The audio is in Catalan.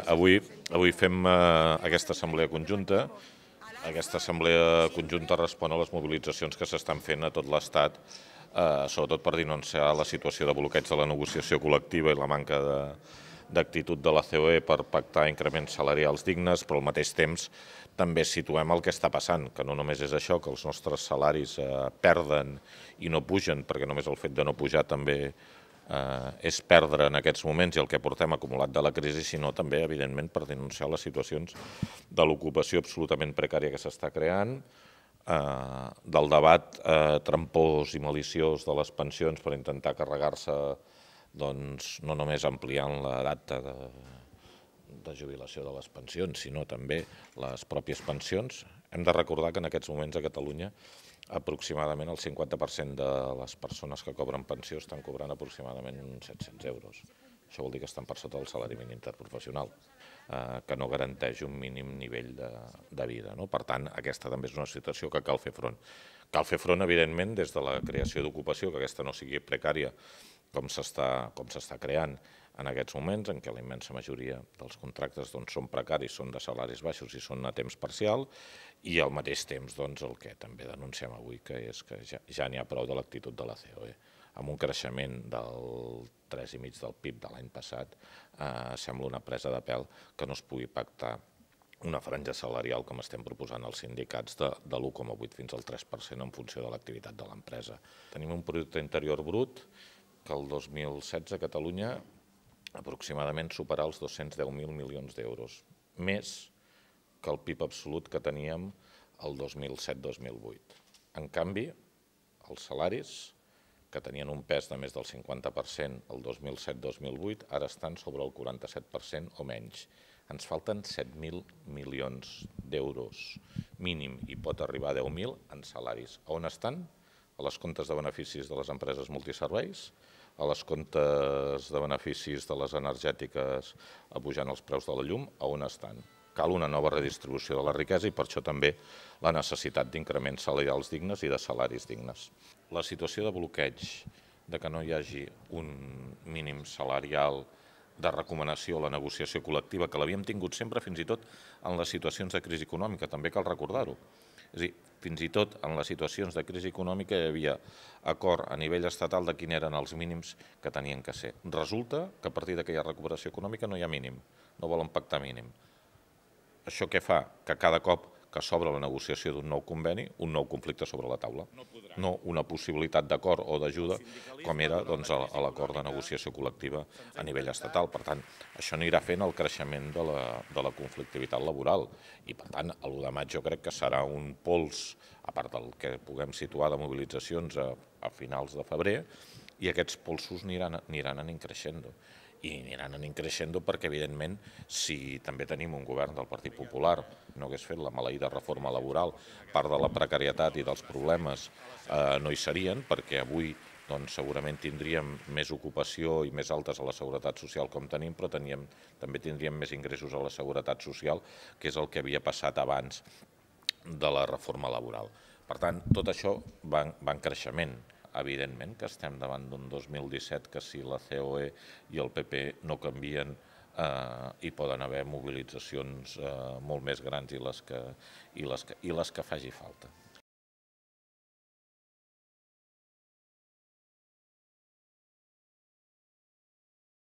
Avui fem aquesta assemblea conjunta. Aquesta assemblea conjunta respon a les mobilitzacions que s'estan fent a tot l'Estat, sobretot per denunciar la situació de bloqueig de la negociació col·lectiva i la manca d'actitud de la COE per pactar increments salarials dignes, però al mateix temps també situem el que està passant, que no només és això, que els nostres salaris perden i no pugen, perquè només el fet de no pujar també és perdre en aquests moments i el que portem acumulat de la crisi, sinó també, evidentment, per denunciar les situacions de l'ocupació absolutament precària que s'està creant, del debat trampós i maliciós de les pensions per intentar carregar-se, doncs, no només ampliant la data de jubilació de les pensions, sinó també les pròpies pensions. Hem de recordar que en aquests moments a Catalunya aproximadament el 50% de les persones que cobren pensió estan cobrant aproximadament uns 700 euros. Això vol dir que estan per sota del salari mínim interprofessional, que no garanteix un mínim nivell de vida. Per tant, aquesta també és una situació que cal fer front. Cal fer front, evidentment, des de la creació d'ocupació, que aquesta no sigui precària, com s'està creant en aquests moments, en què la immensa majoria dels contractes són precaris, són de salaris baixos i són a temps parcial, i al mateix temps el que també denunciem avui, que és que ja n'hi ha prou de l'actitud de la COE. Amb un creixement del 3,5% del PIB de l'any passat, sembla una presa de pèl que no es pugui pactar una franja salarial, com estem proposant als sindicats, de l'1,8 fins al 3% en funció de l'activitat de l'empresa. Tenim un producte interior brut que el 2016 a Catalunya aproximadament superar els 210.000 milions d'euros, més que el PIB absolut que teníem el 2007-2008. En canvi, els salaris, que tenien un pes de més del 50% el 2007-2008, ara estan sobre el 47% o menys. Ens falten 7.000 milions d'euros mínim i pot arribar a 10.000 en salaris. On estan? A les comptes de beneficis de les empreses multiserveis, a les comptes de beneficis de les energètiques pujant els preus de la llum, on estan? Cal una nova redistribució de la riquesa i per això també la necessitat d'increments salarials dignes i de salaris dignes. La situació de bloqueig, de que no hi hagi un mínim salarial de recomanació a la negociació col·lectiva, que l'havíem tingut sempre, fins i tot en les situacions de crisi econòmica, també cal recordar-ho. És a dir, fins i tot en les situacions de crisi econòmica hi havia acord a nivell estatal de quins eren els mínims que tenien que ser. Resulta que a partir d'aquella recuperació econòmica no hi ha mínim, no volen pactar mínim. Això què fa? Que cada cop que s'obre la negociació d'un nou conveni, un nou conflicte sobre la taula. No una possibilitat d'acord o d'ajuda com era a l'acord de negociació col·lectiva a nivell estatal. Per tant, això anirà fent el creixement de la conflictivitat laboral i, per tant, l'1 de maig jo crec que serà un pols, a part del que puguem situar de mobilitzacions a finals de febrer, i aquests polsos aniran anant creixent. I aniran anant creixent perquè, evidentment, si també tenim un govern del Partit Popular no hagués fet la maleïda reforma laboral, part de la precarietat i dels problemes no hi serien, perquè avui segurament tindríem més ocupació i més altes a la seguretat social com tenim, però també tindríem més ingressos a la seguretat social, que és el que havia passat abans de la reforma laboral. Per tant, tot això va en creixement. Evidentment que estem davant d'un 2017 que si la COE i el PP no canvien hi poden haver mobilitzacions molt més grans i les que faci falta.